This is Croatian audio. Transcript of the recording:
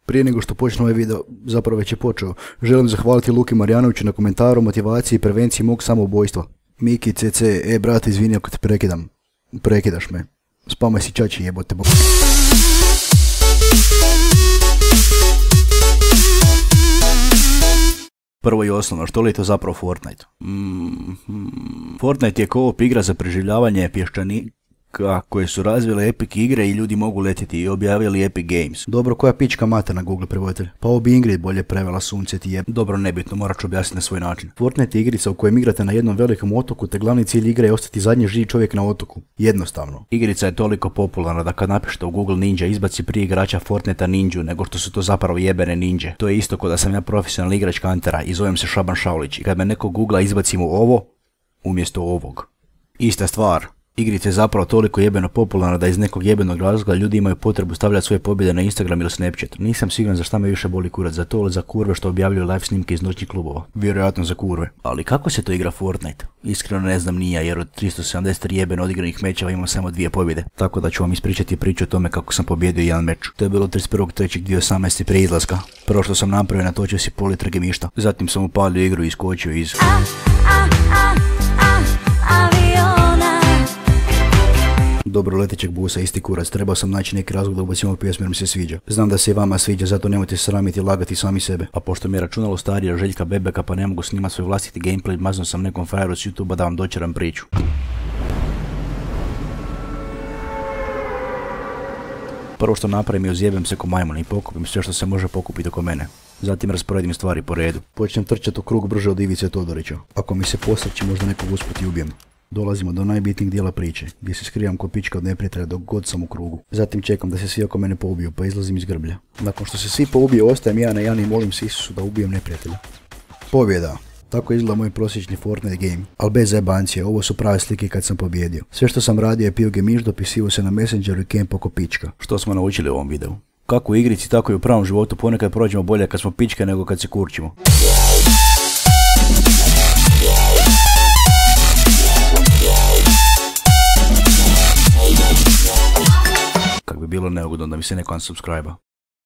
Prije nego što počne ovaj video, zapravo već je počeo, želim zahvaliti Luki Marjanoviću na komentaru, motivaciji i prevenciji mog samoubojstva. Miki CC, brate, izvini ako te prekidam. Prekidaš me. Spamaj si čači, jebote bok. Prvo i osnovno, što li je to zapravo Fortnite? Fortnite je co-op igra za preživljavanje pješčanika koje su razvile Epic igre i ljudi mogu letjeti i objavili Epic Games. Dobro, koja pička mata na Google prevoditelj? Pa ovo bi Ingrid bolje prevela, sunce ti je. Dobro, nebitno, morat ću objasniti na svoj način. Fortnite je igrica u kojem igrate na jednom velikom otoku te glavni cilj igre je ostati zadnji živ čovjek na otoku. Jednostavno. Igrica je toliko popularna da kad napišete u Google Ninja izbaci prije igrača Fortnite ninju nego što su to zapravo jebene ninje. To je isto kao da sam ja profesionalni igrač Kantera i zovem se Šaban Šaulić i kad me neko googla izbaci mu ovo umjesto ovog. Ista stvar. Igrica je zapravo toliko jebeno popularna da iz nekog jebenog razloga ljudi imaju potrebu stavljati svoje pobjede na Instagram ili Snapchat. Nisam siguran za šta me više boli kurac, za to ili za kurve što objavljuju live snimke iz noćnih klubova. Vjerojatno za kurve. Ali kako se to igra Fortnite? Iskreno ne znam ni ja, jer od 373 jebeno odigranih mečeva imam samo 2 pobjede. Tako da ću vam ispričati priču o tome kako sam pobjedio jedan meč. To je bilo 31.3.2018. prije izlaska. Prvo što sam napravio, natočio si pol litre gemišta. Zatim sam upalio igru i iskočio iz... Dobro letećeg busa, isti kurac, trebao sam naći neki razlog da ubacim ovu pjesmu jer mi se sviđa. Znam da se i vama sviđa, zato nemojte se sramiti i lagati sami sebe. A pošto mi je računalo starije Željka Bebeka pa ne mogu snimati svoj vlastiti gameplay, maznuo sam nekom frajeru s YouTubea da vam dočeram priču. Prvo što napravim je uzjebem se ko majmun i pokupim sve što se može pokupiti oko mene. Zatim rasporedim stvari po redu. Počnem trčati u krug brže od Ivice Todorića. Ako mi se posreći možda nekog usput i ubijem. Dolazimo do najbitnijeg dijela priče, gdje se skrivam ko pička od neprijatelja dok god sam u krugu. Zatim čekam da se svi oko mene poubiju, pa izlazim iz grblja. Nakon što se svi poubiju, ostajem ja na Jani i molim se Isusu da ubijem neprijatelja. Pobjeda! Tako izgleda moj prosječni Fortnite game. Ali bez zebancije, ovo su prave slike kad sam pobjedio. Sve što sam radio je pio gemiš, dopisivo se na Messengeru i camp oko pička. Što smo naučili u ovom videu? Kako u igrici, tako i u pravom životu ponekad prođemo bolje kad smo pičke nego kad se kurčimo. Kak bi bilo neugodno da mi se neko unsubscribe-a.